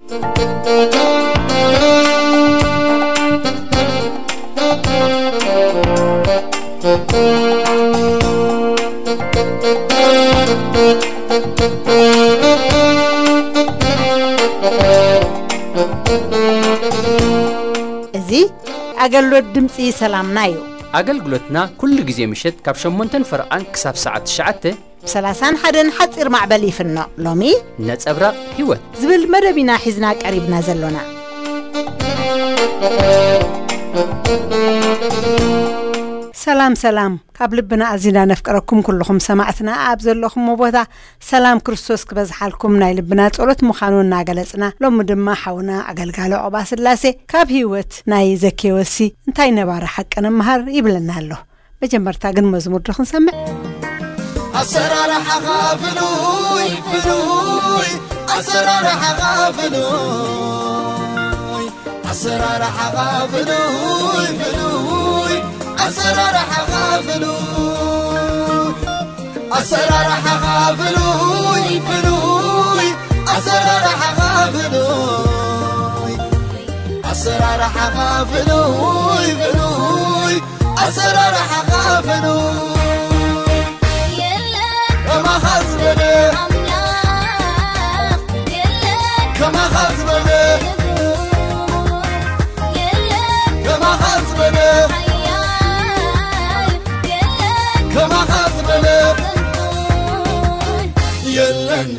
እዚ ኣገልግሎት ድምፂ ሰላምና እዩ። ኣገልግሎትና ኩሉ ግዜ ምሸት ካብ ሸሞንተን ፈረቓን ክሳብ ሰዓት ትሽዓተ ብ ሰላሳን ሓደን ሓፂር ማዕበል ይፍኖ። ሎሚ ነጸብራቕ ህይወት ዝብል መደብ ኢና ሒዝና ቀሪብና ዘሎና። ሰላም ሰላም፣ ካብ ልብና ኣዚና ነፍቅረኩም ኩልኹም ሰማዕትና ኣብ ዘለኹምዎ ቦታ ሰላም ክርስቶስ ክበዝሓልኩም ናይ ልብና ጸሎት ምዃኑ እናገለጽና፣ ሎሚ ድማ ሓውና ኣገልጋሊ ዑቕባ ስላሴ ካብ ህይወት ናይ ዘኬዎሲ እንታይ ነባሪ ሓቂ ንምሃር ይብለና ኣሎ። መጀመርታ ግን መዝሙር ዶ ክንሰምዕ? ኣሰራርሓኻ ፍሉይ ፍሉይ፣ ኣሰራርሓኻ ፍሉይ፣ ኣሰራርሓኻ ፍሉይ ፍሉይ፣ ኣሰራርሓኻ ፍሉይ፣ ኣሰራርሓኻ ፍሉይ ፍሉይ፣ ኣሰራርሓኻ ፍሉይ፣ ኣሰራርሓኻ ፍሉይ ፍሉይ፣ ኣሰራርሓኻ ፍሉይ። የለን ከማኻ ዝበለ ኣምላኽ፣ የለን ከማኻ ዝበለ፣ የለን ከማኻ ዝበለ ሓያል፣ የለን ከማኻ ዝበለ። የለን፣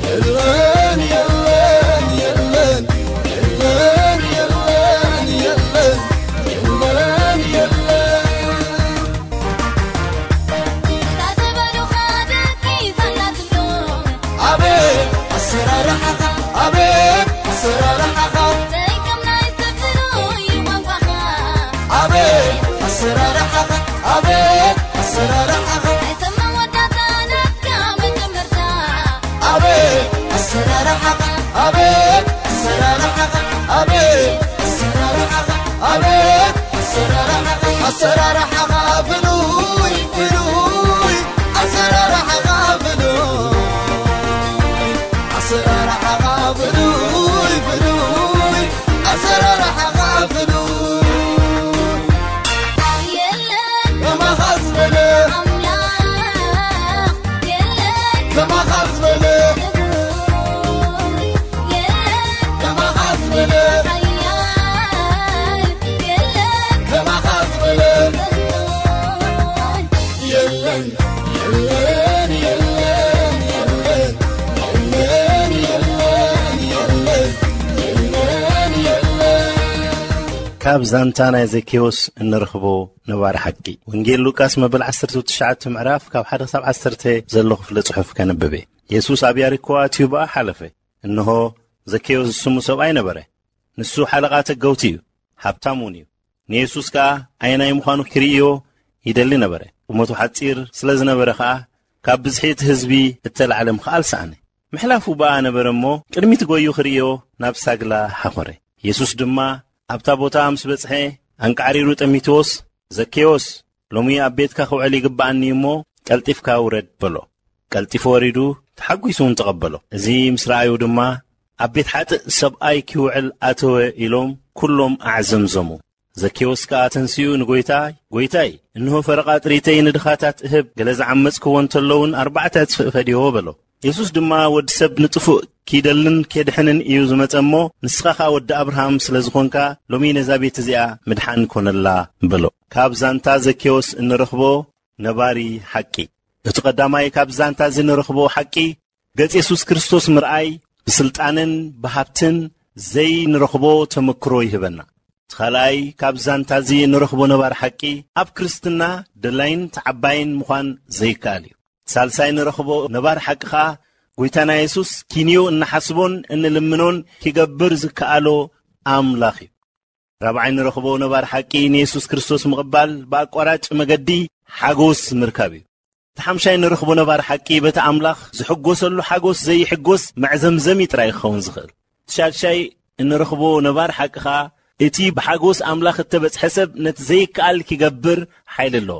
የለን፣ የለን፣ የለን፣ የለን፣ የለን፣ የለን፣ የለን። ኣቤት ኣሰራርሓኻ፣ ኣቤት ኣሰራርሓኻ። ኣቤት ኣሰራርሓኻ፣ ኣቤት ኣሰራርሓኻ። ኣቤት ኣሰራርሓኻ፣ ኣቤት ኣሰራርሓኻ፣ ኣቤት ኣሰራርሓኻ፣ ኣቤት ኣሰራርሓኻ። ኣሰራርሓኻ ፍሉይ ፍሉይ፣ ኣሰራርሓኻ ፍሉይ፣ ኣሰራርሓኻ ፍሉይ ፍሉይ፣ ኣሰራርሓኻ ፍሉይ። የለን ከማኻ ዝበለ ኣምላኽ፣ የለን ከማኻ ዝበለ፣ የለን ከማኻ ዝበለ ሓያል፣ የለን ከማኻ ዝበለ። የለን፣ የለን፣ የለን፣ የለን፣ የለን፣ የለን፣ የለን፣ የለን፣ የለን። ካብ ዛንታ ናይ ዘኬዎስ እንረኽቦ ነባሪ ሓቂ። ወንጌል ሉቃስ መበል ዓሰርተ ትሽዓተ ምዕራፍ ካብ ሓደ ክሳብ ዓሰርተ ዘሎ ክፍለ ጽሑፍ ከንብብ እየ። የሱስ ኣብ ያሪኮ ኣትዩ ብኣ ሓለፈ። እንሆ፣ ዘኬዎስ ዝስሙ ሰብኣይ ነበረ። ንሱ ሓለቓ ተገውቲ እዩ፣ ሃብታም እውን እዩ። ንየሱስ ከኣ ኣየናይ ምዃኑ ክርእዮ ይደሊ ነበረ። ቁመቱ ሓጺር ስለ ዝነበረ ከኣ ካብ ብዝሒ እቲ ህዝቢ እተላዕለ ምኽኣል ሰኣነ። ምሕላፉ ብኣ ነበረ እሞ፣ ቅድሚት ጐዩ ክርእዮ ናብ ሳግላ ሓኾረ። የሱስ ድማ ኣብታ ቦታ ምስ በጽሐ፣ ኣንቃዕሪሩ ጠሚትዎስ፣ "ዘኬዎስ፣ ሎሚ ኣብ ቤትካ ክውዕል ይግብኣኒ እሞ፣ ቀልጢፍካ ውረድ" በሎ። ቀልጢፉ ወሪዱ፣ ተሓጒሱ እውን ተቐበሎ። እዚ ምስ ረኣዩ ድማ፣ "ኣብ ቤት ሓጥእ ሰብኣይ ኪውዕል ኣተወ" ኢሎም ኩሎም ኣዕዘምዘሙ። ዘኬዎስ ከኣ ተንሲኡ ንጐይታ፣ "ጐይታይ፣ እንሆ ፈረቓ ጥሪተይ ንድኻታት እህብ፣ ገለ ዝዓመጽክዎ እንተሎ እውን ኣርባዕተ ዕጽፊ እፈድዮ" በሎ። የሱስ ድማ፣ "ወዲ ሰብ ንጥፉእ ኪደልን ኬድሕንን እዩ ዝመጸ እሞ፣ ንስኻ ኸኣ ወዲ ኣብርሃም ስለ ዝኾንካ፣ ሎሚ ነዛ ቤት እዚኣ ምድሓን ኮነላ" በሎ። ካብ ዛንታ ዘኬዎስ እንረኽቦ ነባሪ ሓቂ። እቲ ቀዳማይ ካብ ዛንታ እዚ ንረኽቦ ሓቂ፣ ገጽ የሱስ ክርስቶስ ምርኣይ ብስልጣንን ብሃብትን ዘይንረኽቦ ተመክሮ ይህበና። እቲ ካልኣይ ካብ ዛንታ እዚ ንረኽቦ ነባሪ ሓቂ፣ ኣብ ክርስትና ደላይን ተዓባይን ምዃን ዘይከኣል እዩ። ሳልሳይ ንረኽቦ ነባሪ ሓቂ ኸኣ፣ ጐይታና የሱስ ኪንዮ እንሓስቦን እንልምኖን ኪገብር ዝከኣሎ ኣምላኽ እዩ። ራብዓይ ንረኽቦ ነባሪ ሓቂ ንየሱስ ክርስቶስ ምቕባል ብኣቋራጭ መገዲ ሓጎስ ምርካብ እዩ። እቲ ሓምሻይ ንረኽቦ ነባሪ ሓቂ በቲ ኣምላኽ ዝሕጎሰሉ ሓጎስ ዘይሕጎስ መዕዘምዘሚ ጥራይ ክኸውን ዝኽእል። እቲ ሻድሻይ እንረኽቦ ነባሪ ሓቂ ኸኣ እቲ ብሓጎስ ኣምላኽ እተበጽሐ ሰብ ነቲ ዘይከኣል ኪገብር ሓይሊ ኣለዎ።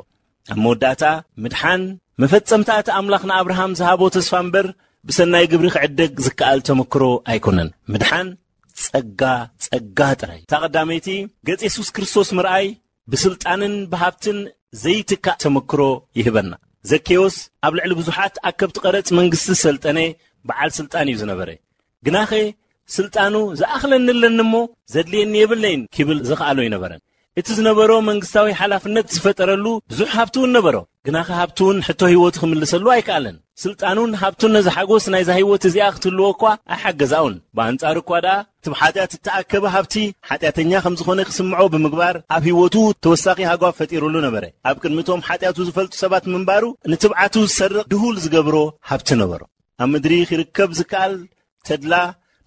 ኣብ መወዳእታ ምድሓን መፈጸምታ እቲ ኣምላኽ ንኣብርሃም ዝሃቦ ተስፋ እምበር ብሰናይ ግብሪ ክዕደግ ዝከኣል ተመክሮ ኣይኮነን። ምድሓን ጸጋ፣ ጸጋ ጥራይ። እታ ቀዳመይቲ፣ ገጽ የሱስ ክርስቶስ ምርኣይ ብስልጣንን ብሃብትን ዘይትካእ ተመክሮ ይህበና። ዘኬዎስ ኣብ ልዕሊ ብዙሓት ኣከብቲ ቀረጽ መንግስቲ ዝሰልጠነ በዓል ስልጣን እዩ ዝነበረ። ግናኸ ስልጣኑ፣ "ዝኣኽለኒ ኣለኒ እሞ ዘድልየኒ የብለይን" ኪብል ዝኸኣሎ ኣይነበረን። እቲ ዝነበሮ መንግስታዊ ሓላፍነት ዝፈጠረሉ ብዙሕ ሃብቲ እውን ነበሮ። ግናኸ ሃብቲ እውን ሕቶ ህይወቱ ክምልሰሉ ኣይከኣለን። ስልጣኑን ሃብቱን ነዚ ሓጎስ ናይዛ ህይወት እዚኣ ክትህልዎ እኳ ኣይሓገዛኡን። ብኣንጻሩ እኳ ደኣ፣ እቲ ብሓጢኣት እተኣከበ ሃብቲ ሓጢኣተኛ ከም ዝኾነ ክስምዖ ብምግባር፣ ኣብ ህይወቱ ተወሳኺ ሃጓፍ ፈጢሩሉ ነበረ። ኣብ ቅድሚ እቶም ሓጢኣቱ ዝፈልጡ ሰባት ምንባሩ፣ ንትብዓቱ ዝሰርቕ ድሁል ዝገብሮ ሃብቲ ነበሮ። ኣብ ምድሪ ክርከብ ዝከኣል ተድላ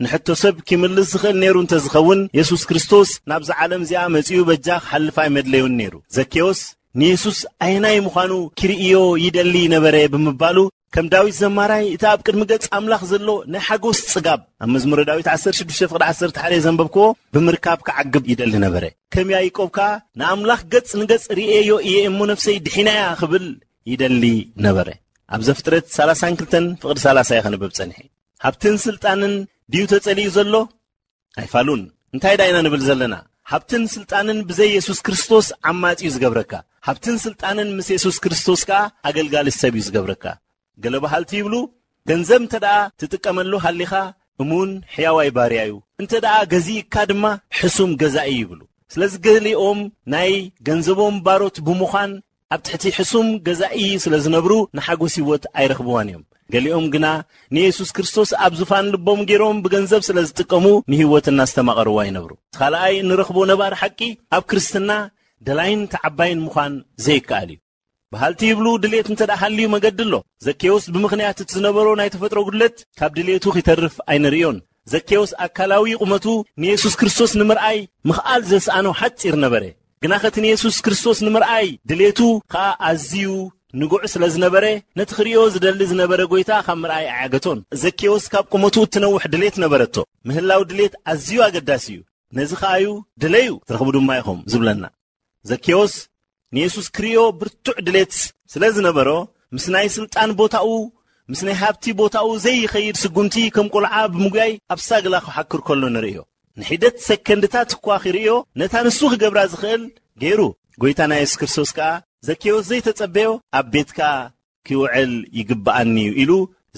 ንሕቶ ሰብ ኪምልስ ዝኽእል ነይሩ እንተ ዝኸውን፣ የሱስ ክርስቶስ ናብዛ ዓለም እዚኣ መጺኡ በጃ ክሓልፍ ኣይመድለዩን ነይሩ። ዘኬዎስ ንየሱስ ኣየናይ ምዃኑ ኪርእዮ ይደሊ ነበረ ብምባሉ፣ ከም ዳዊት ዘማራይ፣ እቲ ኣብ ቅድሚ ገጽ ኣምላኽ ዘሎ ናይ ሓጎስ ጽጋብ፣ ኣብ መዝሙረ ዳዊት ዓሰርተ ሽዱሽተ ፍቕዲ ዓሰርተ ሓደ ዘንበብክዎ ብምርካብ ክዓግብ ይደሊ ነበረ። ከም ያዕቆብ ከኣ፣ "ንኣምላኽ ገጽ ንገጽ ርእየዮ እየ እሞ ነፍሰይ ድሒናያ" ክብል ይደሊ ነበረ። ኣብ ዘፍጥረት ሰላሳን ክልተን ፍቕዲ ሰላሳ እየ ከንብብ ጸኒሐ። ሃብትን ስልጣንን ድዩ ተጸሊኡ ዘሎ? ኣይፋሉን። እንታይ ደኣ ኢና ንብል ዘለና? ሃብትን ስልጣንን ብዘይ የሱስ ክርስቶስ ዓማጺ እዩ ዝገብረካ። ሃብትን ስልጣንን ምስ የሱስ ክርስቶስ ከኣ ኣገልጋሊ ሰብ እዩ ዝገብረካ። ገለ በሃልቲ ይብሉ፣ "ገንዘብ እንተ ደኣ ትጥቀመሉ ሃሊኻ፣ እሙን ሕያዋይ ባርያ እዩ። እንተ ደኣ ገዚእካ ድማ፣ ሕሱም ገዛኢ" ይብሉ። ስለዚ ገሊኦም ናይ ገንዘቦም ባሮት ብምዃን፣ ኣብ ትሕቲ ሕሱም ገዛኢ ስለ ዝነብሩ፣ ንሓጎስ ህይወት ኣይረኽብዋን እዮም። ገሊኦም ግና ንየሱስ ክርስቶስ ኣብ ዙፋን ልቦም ገይሮም ብገንዘብ ስለ ዝጥቀሙ፣ ንህይወት እናስተማቐርዋ ይነብሩ። እቲ ካልኣይ እንረኽቦ ነባሪ ሓቂ፣ ኣብ ክርስትና ደላይን ተዓባይን ምዃን ዘይከኣል እዩ። በሃልቲ ይብሉ፣ ድሌት እንተ ደኣ ሃልዩ መገዲ ኣሎ። ዘኬዎስ ብምኽንያት እቲ ዝነበሮ ናይ ተፈጥሮ ጉድለት ካብ ድሌቱ ኺተርፍ ኣይንርእዮን። ዘኬዎስ ኣካላዊ ቁመቱ ንየሱስ ክርስቶስ ንምርኣይ ምኽኣል ዘስኣኖ ሓጺር ነበረ። ግናኸ እቲ ንየሱስ ክርስቶስ ንምርኣይ ድሌቱ ኸኣ ኣዝዩ ንጉዕ ስለ ዝነበረ፣ ነቲ ክርእዮ ዝደሊ ዝነበረ ጐይታ ካብ ምርኣይ ኣያገቶን። ዘኬዎስ ካብ ቁመቱ እትነውሕ ድሌት ነበረቶ። ምህላው ድሌት ኣዝዩ ኣገዳሲ እዩ። ነዚ ኸኣ እዩ፣ "ድለዩ፣ ትረኽቡ ድማ ኢኹም" ዝብለና። ዘኬዎስ ንየሱስ ክርእዮ ብርቱዕ ድሌት ስለ ዝነበሮ፣ ምስ ናይ ስልጣን ቦታኡ፣ ምስ ናይ ሃብቲ ቦታኡ ዘይኸይድ ስጉምቲ ከም ቁልዓ ብምጉያይ ኣብ ሳግላ ክሓክር ከሎ ንርእዮ። ንሒደት ሰከንድታት እኳ ክርእዮ፣ ነታ ንሱ ክገብራ ዝኽእል ገይሩ። ጐይታና የሱስ ክርስቶስ ከኣ፣ "ዘኬዎስ ዘይተጸበዮ ኣብ ቤትካ ክውዕል ይግብኣኒ እዩ" ኢሉ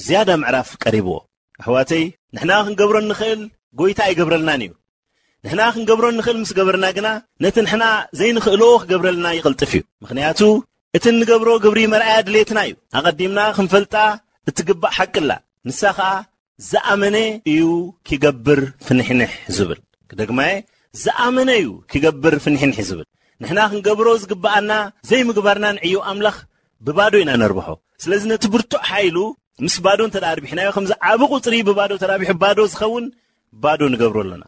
ዝያዳ ምዕራፍ ቀሪብዎ። ኣሕዋተይ፣ ንሕና ክንገብሮ እንኽእል ጐይታ ኣይገብረልናን እዩ። ንሕና ክንገብሮ እንኽእል ምስ ገበርና ግና፣ ነቲ ንሕና ዘይንኽእሎ ክገብረልና ይቕልጥፍ እዩ። ምኽንያቱ፣ እቲ እንገብሮ ግብሪ መርኣያ ድሌትና እዩ። ኣቐዲምና ክንፈልጣ እትግባእ ሓቂ ኣላ። ንሳ ኸኣ፣ "ዝኣመነ እዩ ኪገብር ፍንሕንሕ" ዝብል። ክደግማየ፣ "ዝኣመነ እዩ ኪገብር ፍንሕንሕ" ዝብል። ንሕና ክንገብሮ ዝግብኣና ዘይምግባርና ንዕዮ ኣምላኽ ብባዶ ኢና ነርብሖ። ስለዚ ነቲ ብርቱዕ ሓይሉ ምስ ባዶ እንተ ደኣ ኣርቢሕናዮ፣ ከምዚ ዓቢ ቁጽሪ ብባዶ ተራቢሑ ባዶ ዝኸውን ባዶ ንገብሮ ኣሎና።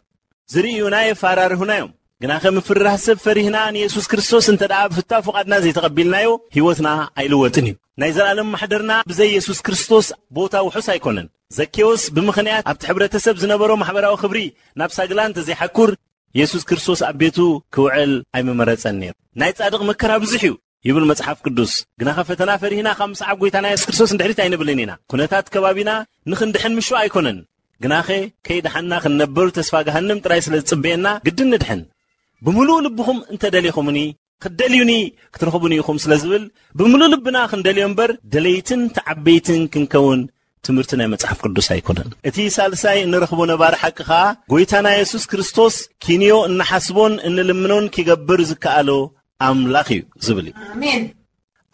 ዝርእዩና የፋራርሁና እዮም። ግናኸ ምፍርራህ ሰብ ፈሪህና ንየሱስ ክርስቶስ እንተ ደኣ ብፍታው ፍቓድና ዘይተቐቢልናዮ፣ ህይወትና ኣይልወጥን እዩ። ናይ ዘላለም ማሕደርና ብዘይ የሱስ ክርስቶስ ቦታ ውሑስ ኣይኮነን። ዘኬዎስ ብምኽንያት ኣብቲ ሕብረተሰብ ዝነበሮ ማሕበራዊ ክብሪ ናብ ሳግላ እንተ ዘይሓኩር፣ የሱስ ክርስቶስ ኣብ ቤቱ ክውዕል ኣይምመረጸን ነይሩ። ናይ ጻድቕ መከራ ብዙሕ እዩ ይብል መጽሓፍ ቅዱስ። ግናኸ ፈተና ፈሪህና ካብ ምስዓብ ጐይታና የሱስ ክርስቶስ ንድሕሪት ኣይንብልን ኢና። ኩነታት ከባቢና ንኽንድሕን ምሹእ ኣይኮነን። ግናኸ ከይደሓንና ክንነብር ተስፋ ገሃንም ጥራይ ስለ ዝጽበየና ግድን ንድሕን። "ብምሉእ ልብኹም እንተ ደሊኹምኒ፣ ክትደልዩኒ ክትረኽቡኒ ኢኹም" ስለ ዝብል፣ ብምሉእ ልብና ክንደልዮ እምበር፣ ደለይትን ተዓበይትን ክንከውን ትምህርቲ ናይ መጽሓፍ ቅዱስ ኣይኮነን። እቲ ሳልሳይ እንረኽቦ ነባሪ ሓቂ ኸኣ፣ ጐይታና የሱስ ክርስቶስ ኪንዮ እንሓስቦን እንልምኖን ኪገብር ዝከኣሎ ኣምላኽ እዩ ዝብል እዩ። ኣሜን።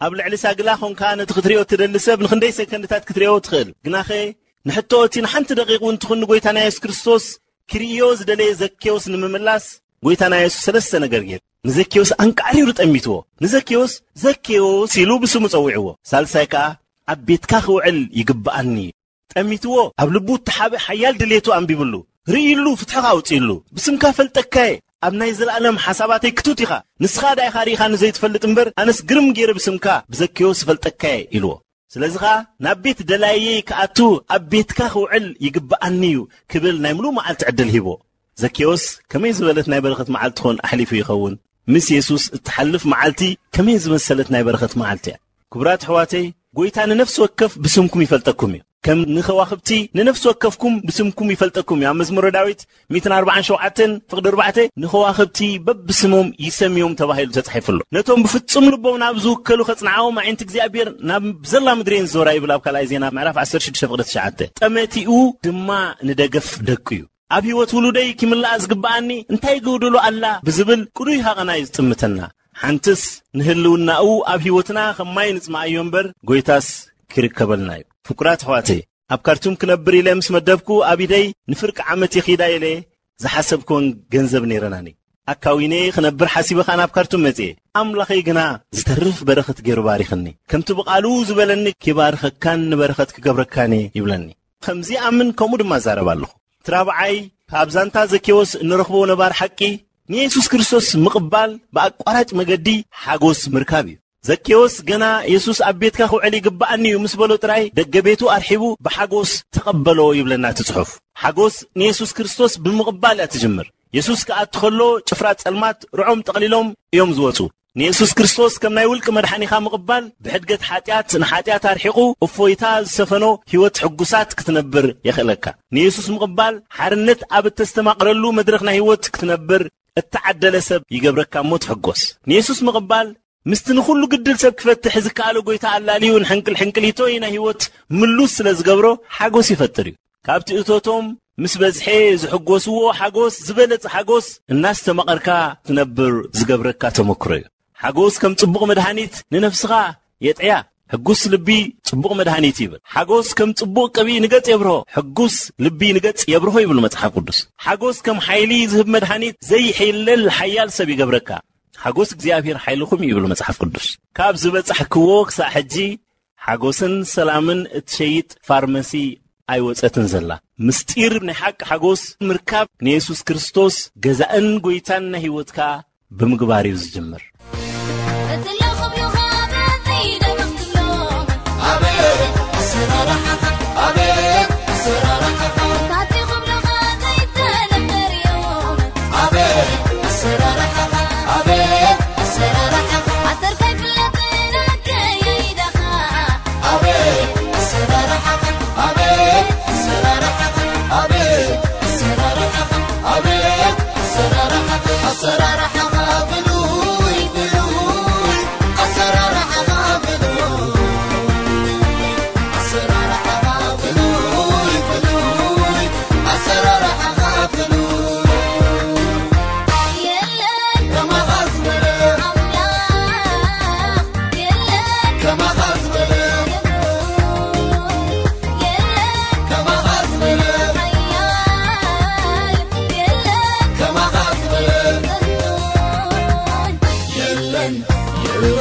ኣብ ልዕሊ ሳግላ ኾንካ ነቲ ክትሪኦ እትደሊ ሰብ ንኽንደይ ሰከንድታት ክትሪኦ ትኽእል። ግናኸ ንሕቶ እቲ ንሓንቲ ደቂቕ እውን ትኹን ንጐይታና የሱስ ክርስቶስ ክርእዮ ዝደለየ ዘኬዎስ ንምምላስ፣ ጐይታና የሱስ ሰለስተ ነገር ገይሩ። ንዘኬዎስ ኣንቃዕሪሩ ጠሚትዎ። ንዘኬዎስ፣ "ዘኬዎስ" ኢሉ ብስሙ ጸዊዕዎ። ሳልሳይ ከኣ፣ "ኣብ ቤትካ ክውዕል ይግብኣኒ" እዩ። ጠሚትዎ፣ ኣብ ልቡ እተሓበ ሓያል ድሌቱ ኣንቢብሉ። ርእይሉ፣ ፍትሕኻ ኣውጺእሉ። "ብስምካ ፈልጠካየ፣ ኣብ ናይ ዘለኣለም ሓሳባተይ ክቱት ኢኻ። ንስኻ ደኣ ኢኻ ርኢኻኒ ዘይትፈልጥ እምበር፣ ኣነስ ግርም ገይረ ብስምካ ብዘኬዎስ እፈልጠካየ" ኢልዎ። ስለዚ ኸኣ፣ "ናብ ቤት ደላየይ ክኣቱ፣ ኣብ ቤትካ ክውዕል ይግብኣኒ እዩ" ክብል ናይ ምሉእ መዓልቲ ዕድል ሂቦ። ዘኬዎስ ከመይ ዝበለት ናይ በረኸት መዓልቲ ኾን ኣሕሊፉ ይኸውን? ምስ የሱስ እትሓልፍ መዓልቲ ከመይ ዝመሰለት ናይ በረኸት መዓልቲ እያ! ክቡራት ኣሕዋተይ፣ ጐይታ ንነፍሲ ወከፍ ብስምኩም ይፈልጠኩም እዩ። ከም ንኸዋኽብቲ ንነፍሲ ወከፍኩም ብስምኩም ይፈልጠኩም እዩ። ኣብ መዝሙረ ዳዊት ሚእትን ኣርባዓን ሸውዓተን ፍቕዲ ኣርባዕተ ንኸዋኽብቲ በብስሞም ይሰምዮም ተባሂሉ ተጻሒፉ ኣሎ። ነቶም ብፍጹም ልቦም ናብ ዝውከሉ ከጽንዓዎም ኣዒንቲ እግዚኣብሔር ናብ ዘላ ምድሪ እየን ዝዞራ ይብል ኣብ ካልኣይ ዜና ምዕራፍ ዓሰርተ ሽዱሽተ ፍቕዲ ትሽዓተ። ጠመቲኡ ድማ ንደገፍ ደቁ እዩ። ኣብ ህይወት ውሉደይ ክምልኣ ዝግብኣኒ እንታይ ይጎድሎ ኣላ ብዝብል ቅኑይ ሃቐና እዩ ዝጥምተና። ሓንትስ ንህልውናኡ ኣብ ህይወትና ከማይ ንጽምኣዮ እምበር ጎይታስ ክርከበልና እዩ። ፍቁራት ኣሕዋተይ፣ ኣብ ካርቱም ክነብር ኢለ ምስ መደብኩ ኣብ ኢደይ ንፍርቂ ዓመት ይኺዳ ኢለ ዝሓሰብኩወን ገንዘብ ነይረናኒ። ኣካዊነ ክነብር ሓሲበ ከኣ ናብ ካርቱም መጽየ። ኣምላኸይ ግና ዝተርፍ በረኸት ገይሩ ባሪኽኒ። ከምቲ ብቓሉ ዝበለኒ፣ "ክባርኸካን ንበረኸት ክገብረካን እየ" ይብለኒ። ከም ዝኣምን ከምኡ ድማ እዛረብ ኣለኹ። እቲ ራብዓይ፣ ካብ ዛንታ ዘኬዎስ እንረኽቦ ነባር ሓቂ፣ ንየሱስ ክርስቶስ ምቕባል ብኣቋራጭ መገዲ ሓጎስ ምርካብ እዩ። ዘኬዎስ ገና የሱስ ኣብ ቤትካ ክውዕል ይግብኣኒ እዩ ምስ በሎ ጥራይ፣ ደገ ቤቱ ኣርሒቡ ብሓጎስ ተቐበሎ ይብለና እቲ ጽሑፍ። ሓጎስ ንየሱስ ክርስቶስ ብምቕባል እያ ትጅምር። የሱስ ክኣቱ ከሎ ጭፍራ ጸልማት ርዖም ጠቕሊሎም እዮም ዝወጹ። ንየሱስ ክርስቶስ ከም ናይ ውልቂ መድሓኒኻ ምቕባል፣ ብሕድገት ሓጢኣት ንሓጢኣት ኣርሒቑ እፎይታ ዝሰፈኖ ህይወት ሕጉሳት ክትነብር የኽእለካ። ንየሱስ ምቕባል፣ ሓርነት ኣብ እተስተማቕረሉ መድረኽ ናይ ህይወት ክትነብር እተዓደለ ሰብ ይገብረካ እሞ ትሕጎስ። ንየሱስ ምቕባል፣ ምስቲ ንኹሉ ግድል ሰብ ክፈትሕ ዝከኣሎ ጎይታ ኣላልዩ ንሕንቅል ሕንቅሊቶይ ናይ ህይወት ምሉስ ስለ ዝገብሮ ሓጎስ ይፈጥር እዩ። ካብቲ እቶቶም ምስ በዝሐ ዝሕጎስዎ ሓጎስ ዝበለጸ ሓጎስ እናስተማቐርካ ትነብር ዝገብረካ ተመክሮ እዩ። ሓጎስ ከም ጽቡቕ መድሃኒት ንነፍስኻ የጥዕያ። ሕጉስ ልቢ ጽቡቕ መድሃኒት ይብል። ሓጎስ ከም ጽቡቕ ቅብኢ ንገጽ የብርሆ። ሕጉስ ልቢ ንገጽ የብርሆ ይብል መጽሓፍ ቅዱስ። ሓጎስ ከም ሓይሊ ዝህብ መድሃኒት ዘይሕይለል ሓያል ሰብ ይገብረካ። ሓጎስ እግዚኣብሔር ሓይልኹም እዩ ይብል መጽሓፍ ቅዱስ። ካብ ዝበጻሕክዎ ክሳዕ ሕጂ ሓጎስን ሰላምን እትሸይጥ ፋርመሲ ኣይወጸትን ዘላ። ምስጢር ናይ ሓቂ ሓጎስ ምርካብ ንየሱስ ክርስቶስ ገዛእን ጎይታን ናይ ህይወትካ ብምግባር እዩ ዝጅምር። እቲ ለኹም ዮኻ በዚ ደምኽትሎም። ኣቤት ኣሰራርሓኻ፣ ኣቤት ኣሰራርሓኻ። ካቲ ክብሉኻ ዘይተለመድ እዩ። ኣቤት ኣሰራርሓኻ፣ ኣቤት ኣሰራርሓኻ። ኣሰርካይ ፍለጥ ንኣከየይዳኻ። ኣቤት ኣሰራርሓኻ፣ ኣቤት ኣሰራርሓኻ፣ ኣቤት ኣሰራርሓኻ፣ ኣቤት ኣሰራርሓኻ። ኣሰራርሓኻ ፍሉይ፣ ፍሉይ፣ ኣሰራርሓኻ ፍሉይ፣ ኣሰራርሓኻ ፍሉይ፣ ፍሉይ፣ ኣሰራርሓኻ ፍሉይ። የለን ከማኻ ዝበለ ኣምላኽ፣ የለን ከማኻ ዝበለ፣ የለን ከማኻ ዝበለ ሓያል፣ የለን ከማኻ ዝበለ የለን፣ የለን፣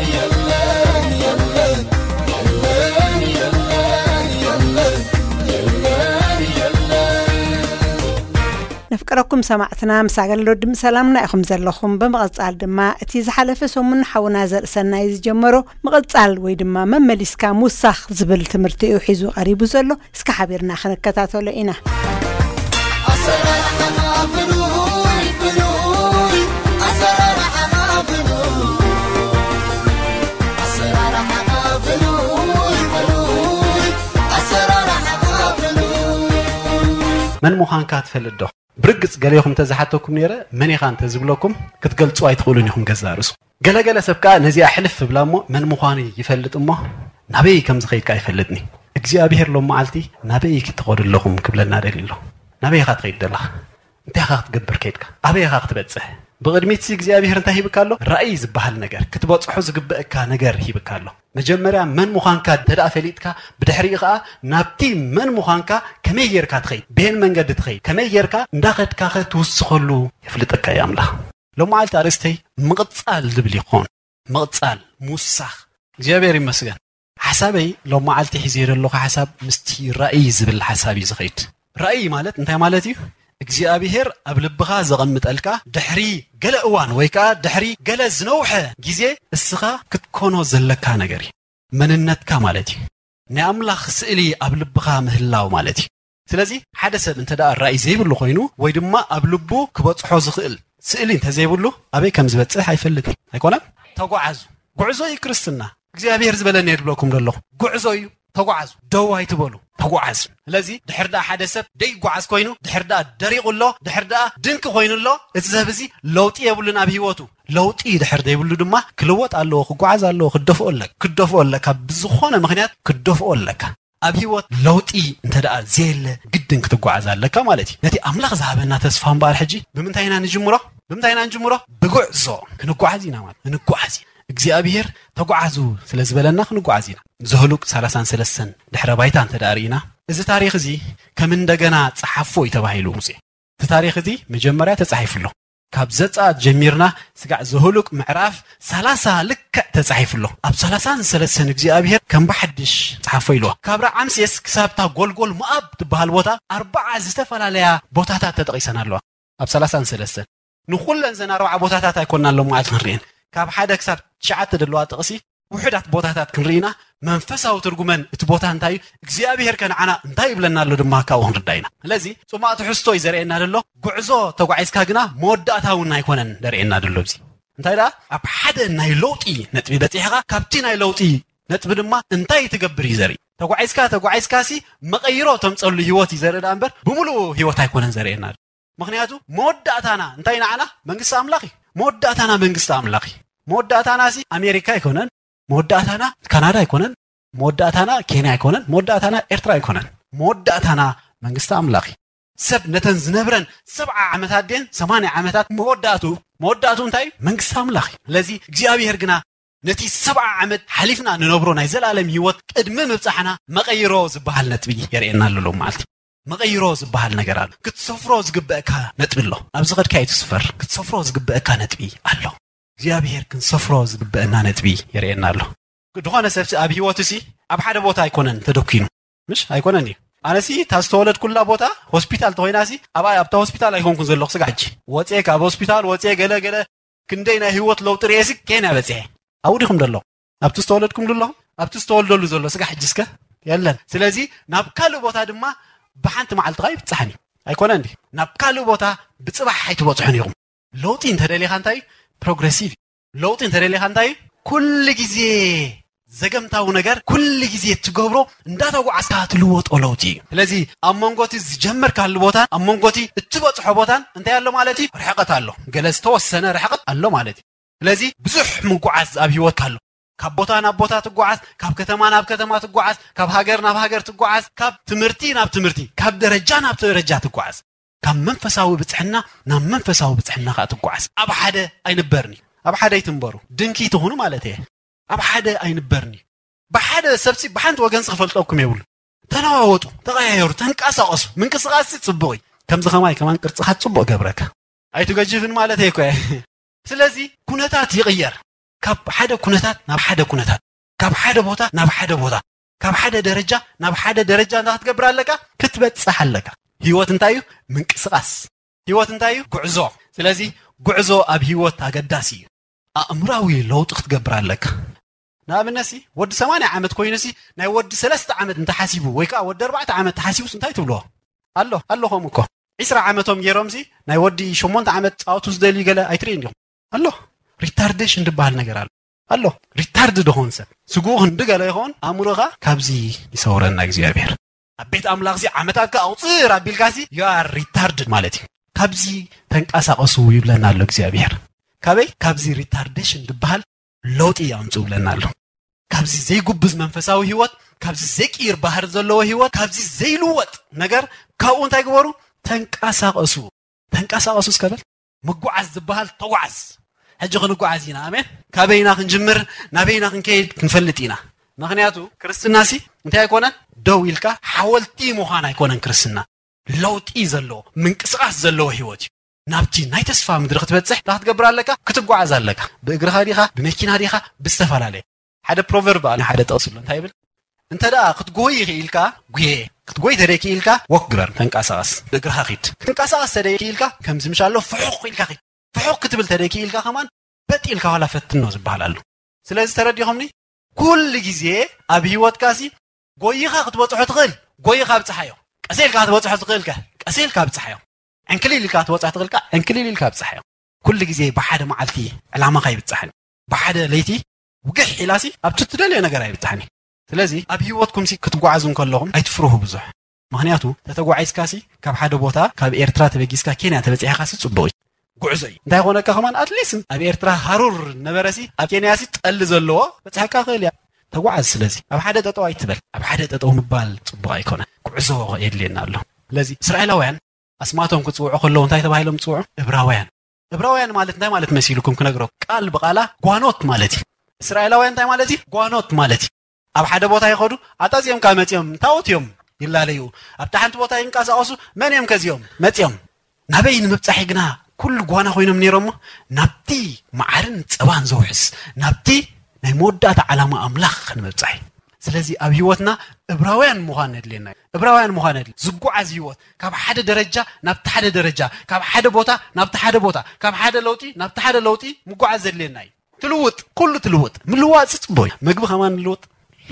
የለን፣ የለን፣ የለን፣ የለን፣ የለን፣ የለን፣ የለን፣ የለን። ነፍቀረኩም ሰማዕትና፣ ምስ ኣገልግሎት ድምፂ ሰላምና ኢኹም ዘለኹም። ብምቕጻል ድማ እቲ ዝሓለፈ ሰሙን ሓውና ዘርእሰናይ ዝጀመሮ ምቕጻል ወይ ድማ መመሊስካ ምውሳኽ ዝብል ትምህርቲ እዩ ሒዙ ቀሪቡ ዘሎ። እስከ ሓቢርና ክንከታተሎ ኢና። ኣሰራርሓኻ ፍሉይ፣ ፍሉይ፣ ኣሰራርሓኻ ፍሉይ፣ ኣሰራርሓኻ ፍሉይ፣ ፍሉይ፣ ኣሰራርሓኻ ፍሉይ። መን ምዃንካ ትፈልጥ ዶ? ብርግጽ ገሌኹም እንተዝሓተኩም ነይረ፣ መን ኢኻ እንተዝብለኩም ክትገልጹ ኣይትኽእሉን ኢኹም ገዛእ ርእስኹም። ገለገለ ሰብ ከኣ ነዚኣ ሕልፍ እብላ እሞ መን ምዃኑ ይፈልጥ እሞ ናበይ ከም ዝኸይድ ከኣ ኣይፈልጥን እዩ። እግዚኣብሄር ሎም መዓልቲ ናበይ ክትኸዱ ኣለኹም ክብለና ደልዩ ኣሎ። ናበይ ኢኻ ትኸይድ ዘለኻ? እንታይ ኢኻ ክትገብር ከይድካ? ኣበይ ኢኻ ክትበጽሕ? ብቕድሚትሲ እግዚኣብሄር እንታይ ሂብካ ኣሎ? ራእይ ዝበሃል ነገር፣ ክትበጽሖ ዝግበአካ ነገር ሂብካ ኣሎ። መጀመርያ መን ምዃንካ እንተ ደኣ ፈሊጥካ፣ ብድሕሪኡ ኸኣ ናብቲ መን ምዃንካ ከመይ ጌርካ ትኸይድ፣ በየን መንገዲ ትኸይድ፣ ከመይ ጌርካ እንዳኸድካኸ ትውስኸሉ የፍልጠካ እዩ ኣምላኽ። ሎመዓልቲ ኣርእስተይ ምቕጻል ዝብል ይኾን። ምቕጻል፣ ምውሳኽ። እግዚኣብሔር ይመስገን። ሓሳበይ ሎም መዓልቲ ሒዘዮ ዘለኹ ሓሳብ ምስቲ ራእይ ዝብል ሓሳብ እዩ ዝኸይድ። ራእይ ማለት እንታይ ማለት እዩ? እግዚኣብሔር ኣብ ልብኻ ዘቐምጠልካ ድሕሪ ገለ እዋን ወይ ከኣ ድሕሪ ገለ ዝነውሐ ግዜ እስኻ ክትኮኖ ዘለካ ነገር እዩ። መንነትካ ማለት እዩ። ናይ ኣምላኽ ስእሊ ኣብ ልብኻ ምህላው ማለት እዩ። ስለዚ ሓደ ሰብ እንተ ደኣ ራእይ ዘይብሉ ኮይኑ ወይ ድማ ኣብ ልቡ ክበጽሖ ዝኽእል ስእሊ እንተ ዘይብሉ ኣበይ ከም ዝበጽሕ ኣይፈልጥን። ኣይኮነን? ተጓዓዙ። ጉዕዞ እዩ ክርስትና። እግዚኣብሔር ዝበለኒ እየ ዝብለኩም ዘለኹ። ጉዕዞ እዩ። ተጓዓዙ፣ ደው ኣይትበሉ፣ ተጓዓዙ። ስለዚ ድሕር ደኣ ሓደ ሰብ ደይጓዓዝ ኮይኑ፣ ድሕር ደኣ ደሪቑ ኣሎ፣ ድሕር ደኣ ድንቂ ኮይኑ ኣሎ፣ እዚ ሰብ እዚ ለውጢ የብሉን ኣብ ህይወቱ። ለውጢ ድሕር ዘይብሉ ድማ ክልወጥ ኣለዎ፣ ክጓዓዝ ኣለዎ፣ ክደፍኦ ኣለካ፣ ክደፍኦ ኣለካ፣ ብዝኾነ ምኽንያት ክደፍኦ ኣለካ። ኣብ ህይወት ለውጢ እንተ ደኣ ዘየለ ግድን ክትጓዓዝ ኣለካ ማለት እዩ። ነቲ ኣምላኽ ዝሃበና ተስፋ እምበኣር ሕጂ ብምንታይ ኢና ንጅምሮ? ብምንታይ ኢና ንጅምሮ? ብጉዕዞ ክንጓዓዝ ኢና ማለት፣ ክንጓዓዝ ኢና። እግዚኣብሔር ተጓዓዙ ስለ ዝበለና ክንጓዓዝ ኢና። ዘህሉቅ ሰላሳን ሰለስተን ድሕረ ባይታ እንተ ደኣ ርኢና፣ እዚ ታሪኽ እዚ ከም እንደገና ጸሓፎ እዩ ተባሂሉ ሙሴ። እቲ ታሪኽ እዚ መጀመርያ ተጻሒፉ ኣሎ። ካብ ዘጸኣት ጀሚርና ስጋዕ ዘህሉቅ ምዕራፍ ሰላሳ ልክዕ ተጻሒፉ ኣሎ። ኣብ ሰላሳን ሰለስተን እግዚኣብሔር ከም ብሓድሽ ጸሓፎ ኢልዋ። ካብ ረዓምሴስ ክሳብታ ጎልጎል ሞኣብ ትበሃል ቦታ ኣርባዓ ዝተፈላለያ ቦታታት ተጠቒሰን ኣለዋ። ኣብ ሰላሳን ሰለስተን ንኹለን ዘን ኣርባዓ ቦታታት ኣይኮንና ኣሎ ማለት ክንርእየን። ካብ ሓደ ክሳብ ትሽዓተ ዘለዋ ጥቕሲ ውሑዳት ቦታታት ክንርኢና መንፈሳዊ ትርጉመን እቲ ቦታ እንታይ እዩ፣ እግዚኣብሔር ከ ንዓና እንታይ ይብለና ኣሎ ድማ ካብኡ ክንርዳ ኢና። ስለዚ ጽማእ ትሕዝቶ እዩ ዘርእየና ዘሎ። ጉዕዞ ተጓዒዝካ ግና መወዳእታ እውን ኣይኮነን ዘርእየና ዘሎ። እዚ እንታይ ደኣ ኣብ ሓደ ናይ ለውጢ ነጥቢ በጺሕኻ፣ ካብቲ ናይ ለውጢ ነጥቢ ድማ እንታይ ትገብር እዩ ዘርኢ። ተጓዒዝካ ተጓዒዝካ ሲ መቐይሮ ተምጸሉ ህይወት እዩ ዘርኢ ደኣ እምበር ብምሉኡ ህይወት ኣይኮነን ዘርእየና ዘሎ። ምኽንያቱ መወዳእታና እንታይ ንዓና መንግስቲ ኣምላኽ እዩ። መወዳእታና መንግስቲ ኣምላኽ እዩ። መወዳእታና ሲ ኣሜሪካ ኣይኮነን፣ መወዳእታና ካናዳ ኣይኮነን፣ መወዳእታና ኬንያ ኣይኮነን፣ መወዳእታና ኤርትራ ኣይኮነን። መወዳእታና መንግስቲ ኣምላኽ እዩ። ሰብ ነተን ዝነብረን ሰብዓ ዓመታት ድየን ሰማንያ ዓመታት መወዳእቱ፣ መወዳእቱ እንታይ እዩ? መንግስቲ ኣምላኽ እዩ። ስለዚ እግዚኣብሔር ግና ነቲ ሰብዓ ዓመት ሓሊፍና ንነብሮ ናይ ዘላለም ህይወት ቅድሚ ምብጻሕና መቐይሮ ዝበሃል ነጥቢ የርእየና ኣሎ ሎም መዓልቲ። መቐይሮ ዝበሃል ነገር ኣሎ። ክትሰፍሮ ዝግበእካ ነጥቢ ኣሎ። ኣብዚ ኸድካ እዩ ትስፈር። ክትሰፍሮ ዝግበእካ ነጥቢ ኣሎ። እግዚኣብሔር ክንሰፍሮ ዝግበእና ነጥቢ የርእየና ኣሎ። ድኾነ ሰብሲ ኣብ ህይወቱ ሲ ኣብ ሓደ ቦታ ኣይኮነን ተደኪኑ። ምሽ ኣይኮነን እዩ። ኣነሲ እታ ዝተወለድኩላ ቦታ ሆስፒታል ተኾይናሲ ኣብ ኣብታ ሆስፒታል ኣይኮንኩን ዘለኹ ስጋ ሕጂ። ወፅየ ካብ ሆስፒታል ወፅየ ገለ ገለ ክንደይ ናይ ህይወት ለውጢ ርእየሲ ኬንያ በፅሐ። ኣብኡ ዲኹም ደሎ ኣብቲ ዝተወለድኩም ኣለኹም ኣብቲ ዝተወልደሉ ዘሎ ስጋ ሕጂ እስከ የለን። ስለዚ ናብ ካልእ ቦታ ድማ ብሓንቲ መዓልቲ ኸ ይብፃሕን እዩ። ኣይኮነን ድዩ? ናብ ካልእ ቦታ ብፅባሕ ኣይትበፅሑን ኢኹም። ለውጢ እንተደሊኻ እንታይ እዩ? ፕሮግረሲቭ እዩ። ለውጢ እንተደሊኻ እንታይ እዩ? ኩሉ ግዜ ዘገምታዊ ነገር ኩሉ ግዜ እትገብሮ እንዳተጓዓዝካ ትልወጦ ለውጢ እዩ። ስለዚ ኣብ መንጎ እቲ ዝጀመርካሉ ቦታን ኣብ መንጎ እቲ እትበፅሖ ቦታን እንታይ ኣሎ ማለት እዩ? ርሕቀት ኣሎ። ገለ ዝተወሰነ ርሕቀት ኣሎ ማለት እዩ። ስለዚ ብዙሕ ምጉዓዝ ኣብ ህይወትካ ኣሎ። ካብ ቦታ ናብ ቦታ ትጓዓዝ፣ ካብ ከተማ ናብ ከተማ ትጓዓዝ፣ ካብ ሃገር ናብ ሃገር ትጓዓዝ፣ ካብ ትምህርቲ ናብ ትምህርቲ፣ ካብ ደረጃ ናብ ደረጃ ትጓዓዝ። ካብ መንፈሳዊ ብፅሕና ናብ መንፈሳዊ ብፅሕና ከዓ ትጓዓዝ። ኣብ ሓደ ኣይንበርን እዩ። ኣብ ሓደ ኣይትንበሩ። ድንኪ ትኹኑ ማለት እየ። ኣብ ሓደ ኣይንበርን እዩ። ብሓደ ሰብሲ ብሓንቲ ወገንሲ ክፈልጠኩም የብሉ። ተለዋወጡ፣ ተቐያየሩ፣ ተንቀሳቐሱ። ምንቅስቓስሲ ፅቡቕ እዩ። ከምዚ ኸማይ ከማን ቅርፅኻ ፅቡቕ ገብረካ። ኣይትገጅፍን ማለት እየ እኮ እየ። ስለዚ ኩነታት ይቕየር። ካብ ሓደ ኩነታት ናብ ሓደ ኩነታት፣ ካብ ሓደ ቦታ ናብ ሓደ ቦታ፣ ካብ ሓደ ደረጃ ናብ ሓደ ደረጃ እንታይ ክትገብር ኣለካ? ክትበጽሕ ኣለካ። ህይወት እንታይ እዩ? ምንቅስቓስ። ህይወት እንታይ እዩ? ጉዕዞ። ስለዚ ጉዕዞ ኣብ ህይወት ኣገዳሲ እዩ። ኣእምራዊ ለውጢ ክትገብር ኣለካ። ንኣብነትሲ ወዲ ሰማንያ ዓመት ኮይኑሲ ናይ ወዲ ሰለስተ ዓመት እንተሓሲቡ ወይ ከዓ ወዲ ኣርባዕተ ዓመት ተሓሲቡስ እንታይ ትብልዎ? ኣሎ ኣሎ ከምኡ እኮ ዒስራ ዓመቶም ገይሮምሲ ናይ ወዲ ሸሞንተ ዓመት ፃወቱ ዝደልዩ ገለ ኣይትርእዩ እንዲኹም። ኣሎ ሪታርዴሽን ዝበሃል ነገር ኣሎ። ኣሎ ሪታርድ ዝኾን ሰብ ስግኡ ክንዲ ገለ ይኸውን ኣእምሮኻ ካብዚ ይሰውረና እግዚኣብሔር። ኣብ ቤት ኣምላኽሲ ዓመታትካ ኣቑፅር ኣቢልካሲ you are retarded ማለት እዩ። ካብዚ ተንቀሳቐሱ ይብለና ኣሎ እግዚኣብሔር። ካበይ? ካብዚ ሪታርዴሽን ዝበሃል ለውጢ ኣምፅኡ ብለና ኣሎ። ካብዚ ዘይጉብዝ መንፈሳዊ ህይወት፣ ካብዚ ዘይቅይር ባህሪ ዘለዎ ህይወት፣ ካብዚ ዘይልወጥ ነገር ካብኡ እንታይ ግበሩ? ተንቀሳቐሱ። ተንቀሳቐሱ እስከ በል። ምጉዓዝ ዝበሃል ተጓዓዝ። ሕጂ ክንጓዓዝ ኢና። ኣሜን። ካበይና ክንጅምር ናበይና ክንከይድ ክንፈልጥ ኢና። ምኽንያቱ ክርስትናሲ እንታይ ኣይኮነን? ደው ኢልካ ሓወልቲ ምዃን ኣይኮነን ክርስትና። ለውጢ ዘለዎ ምንቅስቓስ ዘለዎ ህይወት እዩ። ናብቲ ናይ ተስፋ ምድሪ ክትበፅሕ እንታይ ክትገብር ኣለካ? ክትጓዓዝ ኣለካ። ብእግርኻ ዲኻ ብመኪና ዲኻ ብዝተፈላለየ ሓደ ፕሮቨርብ ኣሎ ሓደ ጥቕሲ ኣሎ እንታይ ይብል? እንተ ደኣ ክትጎይ ክኢልካ ጉየ። ክትጎይ ተደይ ክኢልካ ወክ ግበር ተንቀሳቐስ ብእግርኻ ኺድ። ክትንቀሳቐስ ተደይ ክኢልካ ከምዚ ምሽ ኣሎ ፍሑኽ ኢልካ ኺድ። ፍሑኽ ክትብል ተደይ ክኢልካ ከማን በጥ ኢልካ ዋላ ፈትኖ ዝበሃል ኣሎ። ስለዚ ተረዲኹምኒ? ኩሉ ግዜ ኣብ ህይወትካሲ ጎይኻ ክትበፅሖ ትኽእል ጎይኻ ብፅሓዮ። ቀሰ ኢልካ ክትበፅሖ ትኽእልከ ቀሰ ኢልካ ብፅሓዮ። ዕንክሊል ኢልካ ክትበፅሖ ትኽእልካ ዕንክሊል ኢልካ ብፅሓዮ። ኩሉ ግዜ ብሓደ መዓልቲ ዕላማኻ ይብፅሓን ብሓደ ለይቲ ውግሕ ኢላሲ ኣብቲ ትደልዮ ነገር ኣይብፅሓን። ስለዚ ኣብ ህይወትኩም ሲ ክትጓዓዙ እንከለኹም ኣይትፍርሁ ብዙሕ። ምኽንያቱ ተተጓዒዝካ ሲ ካብ ሓደ ቦታ ካብ ኤርትራ ተበጊስካ ኬንያ ተበጺሕካ ሲ ጽቡቕ እዩ። ጉዕዞ እዩ። እንታይ ኾነካ ከማን ኣትሊስት ኣብ ኤርትራ ሃሩር ነበረ ሲ ኣብ ኬንያ ሲ ጠሊ ዘለዎ በጽሕካ ክእል እያ። ተጓዓዝ። ስለዚ ኣብ ሓደ ጠጠው ኣይትበል። ኣብ ሓደ ጠጠው ምባል ጽቡቕ ኣይኮነ። ጉዕዞ የድልየና ኣሎ። ስለዚ እስራኤላውያን ኣስማቶም ክጽውዑ ከለዉ እንታይ ተባሂሎም ጽውዑ? እብራውያን። እብራውያን ማለት እንታይ ማለት መሲልኩም ክነግረኩም? ቃል ብቓላ ጓኖት ማለት እዩ። እስራኤላውያን እንታይ ማለት እዩ? ጓኖት ማለት እዩ። ኣብ ሓደ ቦታ ይኸዱ፣ ኣጣዚኦም ካብ መጺኦም ታቦት እዮም ይላለዩ። ኣብታ ሓንቲ ቦታ ይንቀሳቐሱ፣ መን እዮም ከዚኦም? መጺኦም። ናበይ ንምብጻሕ ግና ኩሉ ጓና ኮይኖም ነይሮሞ? ናብቲ መዓርን ጸባን ዘውሕስ፣ ናብቲ ናይ መወዳእታ ዓላማ ኣምላኽ ክንምብጻሕ እዩ። ስለዚ ኣብ ህይወትና እብራውያን ምዃን ነድልየና እዩ። እብራውያን ምዃን ነድሊ። ዝጓዓዝ ህይወት፣ ካብ ሓደ ደረጃ ናብቲ ሓደ ደረጃ፣ ካብ ሓደ ቦታ ናብቲ ሓደ ቦታ፣ ካብ ሓደ ለውጢ ናብቲ ሓደ ለውጢ ምጓዓዝ ዘድልየና እዩ። ትልውጥ፣ ኩሉ ትልውጥ። ምልዋጥ ጽቡቕ እዩ። ምግቢ ከማን ልውጥ፣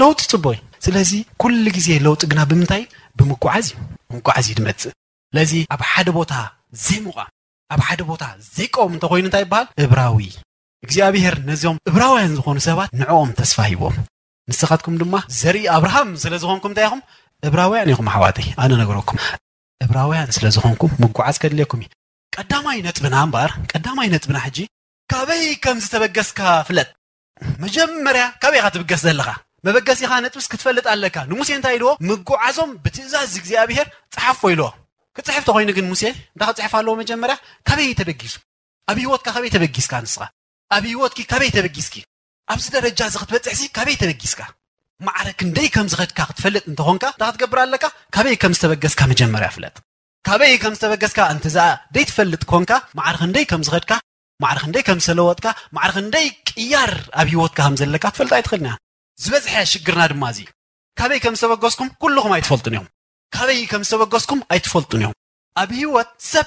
ለውጢ ጽቡቕ እዩ። ስለዚ ኩሉ ግዜ ለውጢ ግና ብምንታይ? ብምጓዓዝ እዩ። ብምጓዓዝ እዩ ዝመጽእ። ስለዚ ኣብ ሓደ ቦታ ዘይምቋም፣ ኣብ ሓደ ቦታ ዘይቀውም እንተኾይኑ እንታይ ይበሃል? እብራዊ። እግዚኣብሔር ነዚኦም እብራውያን ዝኾኑ ሰባት ንዕኦም ተስፋ ሂቦም። ንስኻትኩም ድማ ዘርኢ ኣብርሃም ስለ ዝኾንኩም እንታይ ኢኹም? እብራውያን ኢኹም ኣሕዋተይ። ኣነ ነገረኩም። እብራውያን ስለ ዝኾንኩም ምጉዓዝ ከድልየኩም እዩ። ቀዳማይ ነጥብና እምበኣር፣ ቀዳማይ ነጥብና ሕጂ ካበይ ከም ዝተበገስካ ፍለጥ። መጀመርያ ካበይ ኢኻ ትብገስ ዘለኻ? መበገሲኻ ነጥብስ ክትፈልጥ ኣለካ። ንሙሴ እንታይ ኢልዎ? ምጉዓዞም ብትእዛዝ እግዚኣብሔር ጸሓፎ ኢልዎ። ክጽሕፍ ተኾይኑ ግን ሙሴ እንታይ ክጽሕፍ ኣለዎ? መጀመርያ ካበይ ተበጊሱ? ኣብ ህይወትካ ካበይ ተበጊስካ ንስኻ? ኣብ ህይወትኪ ካበይ ተበጊስኪ? ኣብዚ ደረጃ እዚ ክትበጽሕሲ ካበይ ተበጊስካ? ማዕረ ክንደይ ከም ዝኸድካ ክትፈልጥ እንተኾንካ እንታይ ክትገብር ኣለካ? ካበይ ከም ዝተበገስካ መጀመርያ ፍለጥ። ካበይ ከም ዝተበገስካ እንተ ደኣ ዘይትፈልጥ ኮንካ፣ ማዕረ ክንደይ ከም ዝኸድካ፣ ማዕረ ክንደይ ከም ዝተለወጥካ፣ ማዕረ ክንደይ ቅያር ኣብ ህይወትካ ከም ዘለካ ክትፈልጥ ኣይትኽእልን ኢኻ። ዝበዝሐ ሽግርና ድማ እዚ እዩ። ካበይ ከም ዝተበገስኩም ኩልኹም ኣይትፈልጡን ኢኹም። ካበይ ከም ዝተበገስኩም ኣይትፈልጡን ኢኹም። ኣብ ህይወት ሰብ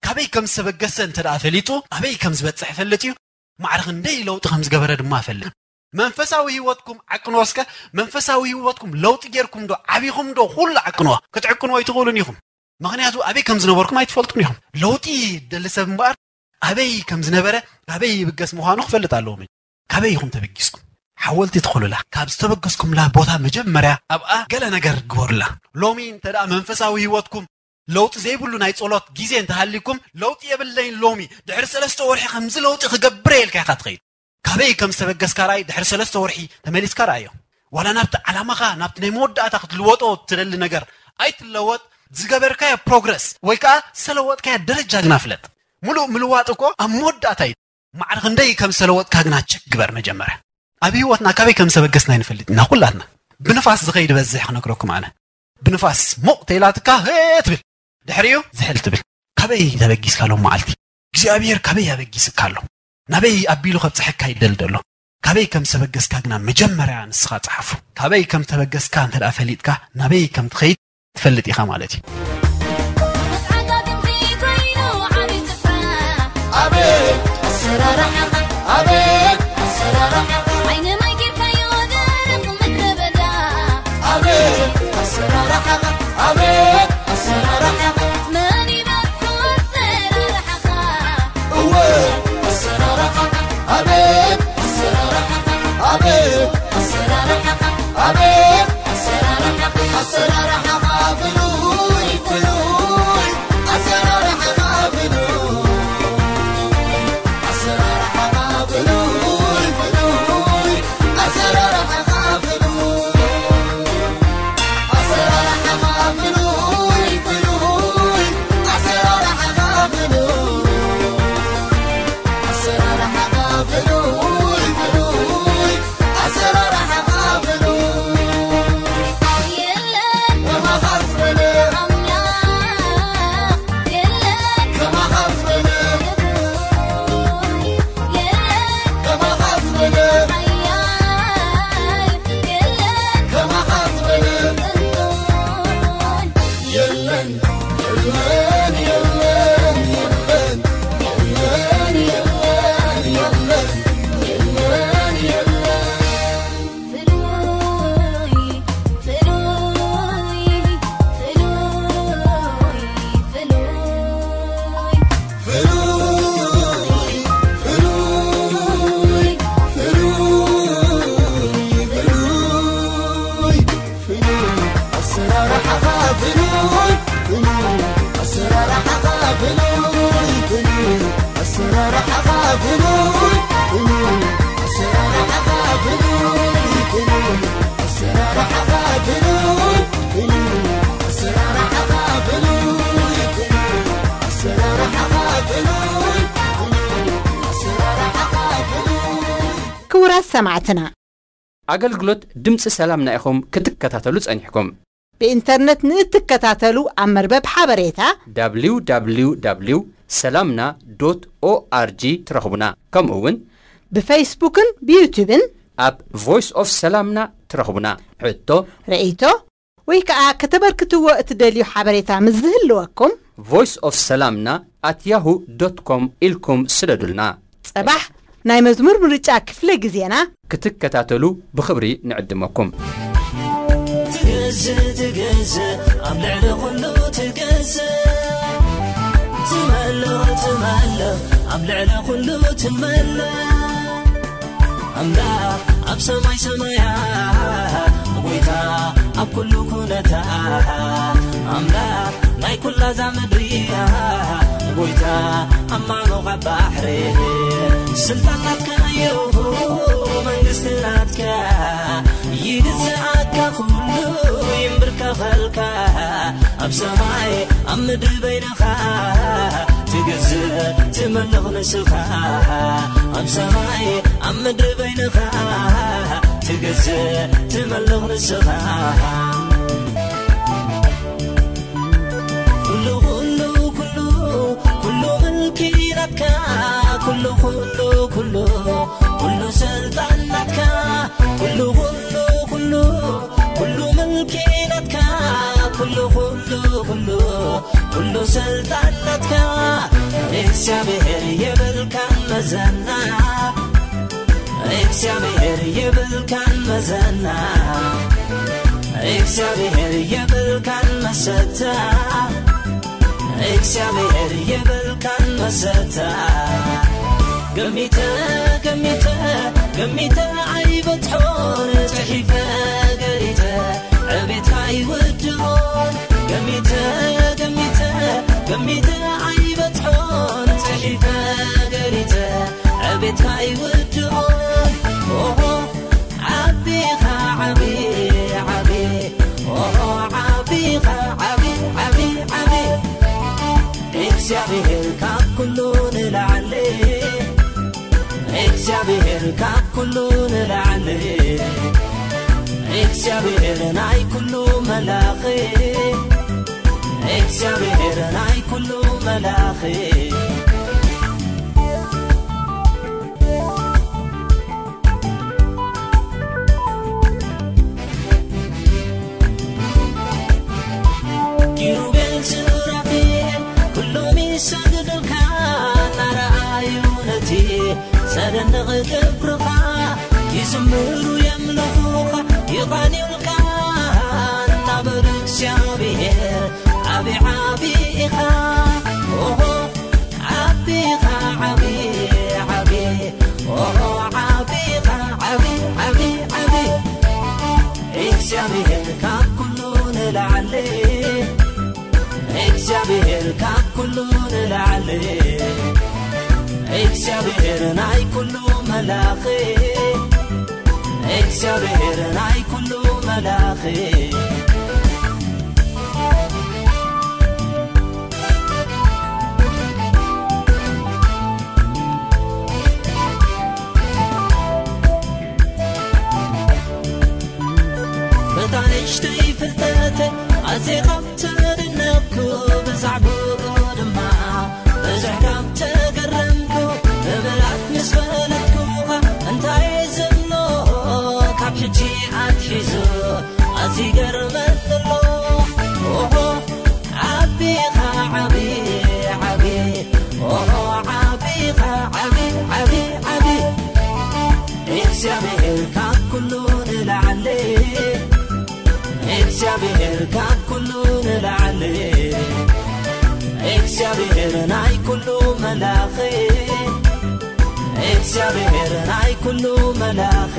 ካበይ ከም ዝተበገሰ እንተ ደኣ ፈሊጡ፣ ኣበይ ከም ዝበጽሕ ይፈልጥ እዩ። ማዕረ ክንደይ ለውጢ ከም ዝገበረ ድማ ይፈልጥ። መንፈሳዊ ህይወትኩም ዓቅንዎ እስከ። መንፈሳዊ ህይወትኩም ለውጢ ጌርኩም ዶ፣ ዓቢኹም ዶ፣ ኩሉ ዓቅንዎ። ክትዕቅንዎ ኣይትኽእሉን ኢኹም። ምኽንያቱ ኣበይ ከም ዝነበርኩም ኣይትፈልጡን ኢኹም። ለውጢ ደሊ ሰብ እምበኣር ኣበይ ከም ዝነበረ፣ ኣበይ ይብገስ ምዃኑ ክፈልጥ ኣለዎ። ካበይ ኢኹም ተበጊስኩም? ሓወልቲ ትኹሉላ። ካብ ዝተበገስኩምላ ቦታ መጀመርያ ኣብኣ ገለ ነገር ግበሩላ። ሎሚ እንተ ደኣ መንፈሳዊ ህይወትኩም ለውጢ ዘይብሉ ናይ ጸሎት ግዜ እንተሃሊኩም፣ ለውጢ የብለይን ሎሚ፣ ድሕሪ ሰለስተ ወርሒ ከምዚ ለውጢ ክገብር እየ ኢልካ ኢኻ ትኸይድ። ካበይ ከም ዝተበገስካ ርኣይ፣ ድሕሪ ሰለስተ ወርሒ ተመሊስካ ርኣዮ። ዋላ ናብቲ ዓላማኻ፣ ናብቲ ናይ መወዳእታ ክትልወጦ ትደሊ ነገር ኣይትለወጥ፣ ዝገበርካዮ ፕሮግረስ ወይ ከኣ ዝተለወጥካዮ ደረጃ ግና ፍለጥ። ምሉእ ምልዋጥ እኮ ኣብ መወዳእታ እዩ። ማዕረ ክንደይ ከም ዝተለወጥካ ግና ቸክ ግበር መጀመርያ። ኣብ ህይወትና ካበይ ከም ዝተበገስና ኣይንፈልጥ ኢና ኩላትና። ብንፋስ ዝኸይድ በዝሕ ክነግረኩም ኣነ። ብንፋስ ሞቕ ተይላትካ፣ "ሄ" ትብል። ድሕሪኡ ዝሕል ትብል። ካበይ ተበጊስካ ሎም መዓልቲ? እግዚኣብሔር ካበይ ኣበጊስካ ኣሎ? ናበይ ኣቢሉ ከብጽሐካ ይደል ደሎ? ካበይ ከም ዝተበገስካ ግና መጀመርያ ንስኻ ጸሓፎ። ካበይ ከም ዝተበገስካ እንተ ደኣ ፈሊጥካ፣ ናበይ ከም ትኸይድ ትፈልጥ ኢኻ ማለት እዩ። ዓጋግምቲ ኮይኑ ዓቢ ስፍራ። ኣቤት ኣሰራርሓኻ፣ ኣቤት ኣሰራርሓኻ። ዓይኒ ማይ ጌርካዮ ደረቕ ምድረ በዳ። ኣቤት ኣሰራርሓኻ፣ ኣቤት ኣሰራርሓኻ። መን ይበልዖ ኣሰራርሓኻ? እወ ኣሰራርሓኻ፣ ኣቤት ኣሰራርሓኻ፣ ኣቤት ኣሰራርሓኻ፣ ኣቤት ኣሰራርሓኻ። ኣሰራርሓኻ ፍሉይ፣ ፍሉይ፣ ኣሰራርሓኻ ፍሉይ፣ ኣሰራርሓኻ ፍሉይ፣ ፍሉይ፣ ኣሰራርሓኻ ፍሉይ። ክቡራት ሰማዕትና፣ ኣገልግሎት ድምፂ ሰላምና ኢኹም ክትከታተሉ ጸኒሕኩም። ብኢንተርነት ንእትከታተሉ ኣብ መርበብ ሓበሬታ www ሰላምና ኦርጂ ትረኽቡና። ከምኡ እውን ብፌስቡክን ብዩቱብን ኣብ ቮይስ ኦፍ ሰላምና ትረኽቡና። ሕቶ፣ ርእይቶ ወይ ከዓ ከተበርክትዎ እትደልዩ ሓበሬታ ምስ ዝህልወኩም፣ ቮይስ ኦፍ ሰላምና ኣት ያሁ ዶት ኮም ኢልኩም ስደዱልና። ጸባሕ ናይ መዝሙር ምርጫ ክፍለ ግዜና ክትከታተሉ ብኽብሪ ንዕድመኩም። ትገዝእ፣ ትገዝእ፣ ኣብ ልዕሊ ኩሉ ትገዝእ። ትመልኽ፣ ትመልኽ፣ ኣብ ልዕሊ ኩሉ ትመልኽ። ኣምላኽ ኣብ ሰማይ ሰማያት፣ ጎይታ ኣብ ኩሉ ኩነታት። ኣምላኽ ናይ ኩላ እዛ ምድሪ፣ ጎይታ ኣብ ማዕበል ባሕሪ። ስልጣን ናትካ እዩ፣ መንግስቲ ናትካ፣ ይግዝኣካ ኩሉ፣ ይንብርከኸልካ። ኣብ ሰማይ ኣብ ምድሪ በይንኻ ትገዝእ ትመልኽ ንስኻ። ኣብ ሰማይ ኣብ ምድሪ በይንኻ ትገዝእ ትመልኽ ንስኻ። ኩሉ፣ ኩሉ፣ ኩሉ፣ ኩሉ ምልኪ ናትካ። ኩሉ፣ ኩሉ፣ ኩሉ፣ ኩሉ ስልጣን ናትካ። ኩሉ፣ ኩሉ፣ ኩሉ፣ ኩሉ ምልኪ ናትካ። ኩሉ፣ ኩሉ፣ ኩሉ፣ ኩሉ ስልጣን ናትካ። እግዚኣብሔር የብልካን መዘና። እግዚኣብሔር የብልካን መዘና። እግዚኣብሔር የብልካን መሰታ። እግዚኣብሔር የብልካን መሰታ። ገሚተ፣ ገሚተ፣ ገሚተ ኣይበጽሖን፣ ጽሒፈ ገሊጸ ዕቤትካ ኣይውድኦን። ገሚተ፣ ገሚተ፣ ገሚተ ኣይበጽሖን፣ ጽሒፈ ገሊጸ ዕቤትካ ኣይውድኦን። ኦሆ፣ ዓቢኻ ዓቢ፣ ዓቢ፣ ኦሆ፣ ዓቢኻ ዓቢ፣ ዓቢ፣ ዓቢ። እግዚኣብሔር ካብ ኩሉ ንላዕሊ፣ እግዚኣብሔር ካብ ኩሉ ንላዕሊ፣ እግዚኣብሔር ናይ ኩሉ መላኺ፣ እግዚኣብሔር ናይ ኩሉ መላኺ። ኪሩቤል ሱራፌል ኩሎም ይሰግዱልካ፣ እናረኣዩ ነቲ ዘደንቕ ግብርኻ ይዝምሩ የምልኹኻ ይቓንዩልካ፣ እናበሉ እግዚኣብሔር ዓቢ ዓቢ ኢኻ። ኦሆ ዓቢኻ ዓቢ ዓቢ ኦሆ ዓቢኻ ዓቢ ዓቢ ዓቢ እግዚኣብሔር ካብ ኩሉ ንላዕሊ እግዚኣብሔር ካብ ኩሉ ንላዕሊ እግዚኣብሔር ናይ ኩሉ መላኺ እግዚኣብሔር ናይ ኩሉ መላኺ። በታ ንእሽተይ ፍልጠተይ ኣዜኻ ተደነቕኩ፣ ብዛዕባኡ ድማ ብዙሕ ካብ ተገረምኩ፣ ብምልኣት ምስ ፈለጥኩኻ እንታይ ዘሎ ካብ ሕጂ ኣትሒዙ ኣዝዩ ይገርመኒ ኣሎ። ኦሆ ዓቢኻ ዓቢ ዓቢ ኦሆ ዓቢኻ ዓቢ ዓቢ ዓቢ እግዚኣብሔር ካብ ኩሉ ንላዕሊ እግዚኣብሔር ካብ ኩሉ ንላዕሊ እግዚኣብሔር ናይ ኩሉ መላኺ እግዚኣብሔር ናይ ኩሉ መላኺ